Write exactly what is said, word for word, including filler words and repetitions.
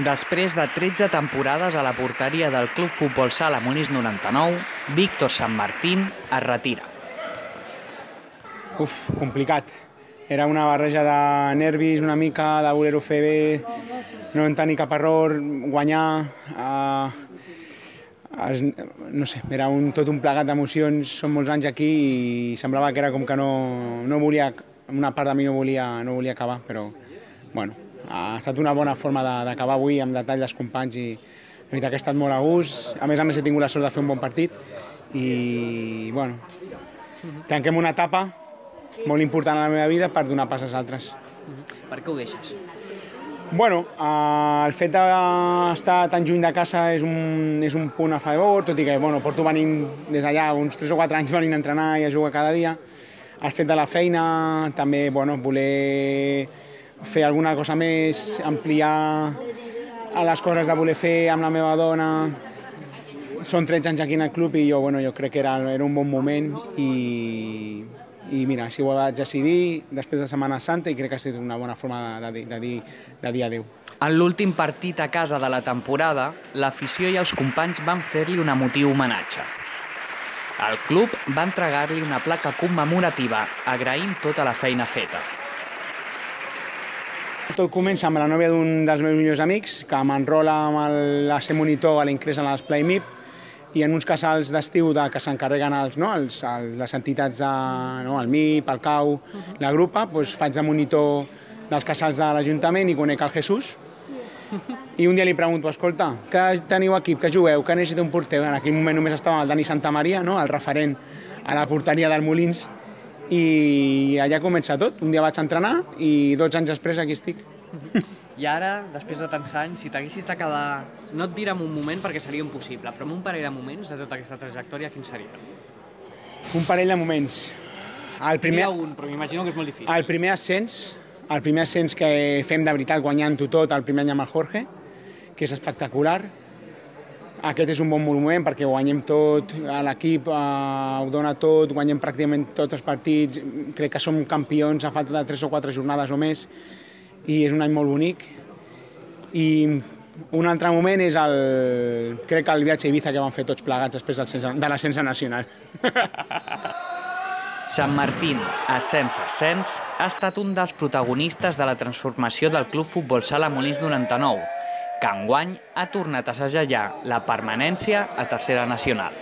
Després de tretze temporades a la porteria del Club Futbol Sala Molins noranta-nou, Víctor Sanmartín es retira. Uf, complicat. Era una barreja de nervis una mica, de voler-ho fer bé, no en tenir cap error, guanyar... Eh, es, no sé, era un, tot un plegat d'emocions, són molts anys aquí i semblava que era com que no, no volia, una part de mi no volia, no volia acabar, però bueno, ha estat una bona forma d'acabar avui amb detall dels companys i la veritat que he estat molt a gust. A més a més he tingut la sort de fer un bon partit i bueno, tanquem una etapa molt important a la meva vida per donar pas als altres. Per què ho deixes? Bueno, eh, el fet d'estar tan lluny de casa és un, és un punt a favor, tot i que bueno, porto venint des d'allà uns tres o quatre anys venint a entrenar i a jugar cada dia. El fet de la feina, també bueno, voler fer alguna cosa més, ampliar les coses de voler fer amb la meva dona. Són tretze anys aquí en el club i jo, bueno, jo crec que era, era un bon moment i, i mira, així ho vaig decidir després de Setmana Santa i crec que ha estat una bona forma de, de, de, dir, de dir adéu. En l'últim partit a casa de la temporada, l'afició i els companys van fer-li un emotiu homenatge. El club va entregar-li una placa commemorativa agraint tota la feina feta. Tot comença amb la nòvia d'un dels meus millors amics, que m'enrola amb el, a ser monitor a l'Ingrés en els Play M I P i en uns casals d'estiu de, que s'encarreguen els, no, els, els, les entitats de, no, el M I P, el C A U, la grupa, doncs faig de monitor dels casals de l'Ajuntament i conec el Jesús. I un dia li pregunto, escolta, que teniu equip, que jugueu, que necessita un porter? En aquell moment només estava el Dani Santamaria, no, el referent a la porteria del Molins, i allà comença tot. Un dia vaig entrenar i dotze anys després aquí estic. I ara, després de tants anys, si t'haguessis de quedar, no et diré en un moment perquè seria impossible, però en un parell de moments de tota aquesta trajectòria, quin seria? Un parell de moments. El primer, un, però m'imagino que és molt difícil. El primer ascens, el primer ascens que fem de veritat guanyant-ho tot el primer any amb el Jorge, que és espectacular. Aquest és un bon moment perquè guanyem tot, l'equip eh, ho dona tot, guanyem pràcticament tots els partits, crec que som campions a falta de tres o quatre jornades o més i és un any molt bonic. I un altre moment és el, crec que el viatge a Ibiza que vam fer tots plegats després de l'ascens nacional. Sanmartín, ascens a ascens, ha estat un dels protagonistes de la transformació del Club Futbol Sala Molins noranta-nou, que enguany ha tornat a segellar la permanència a tercera nacional.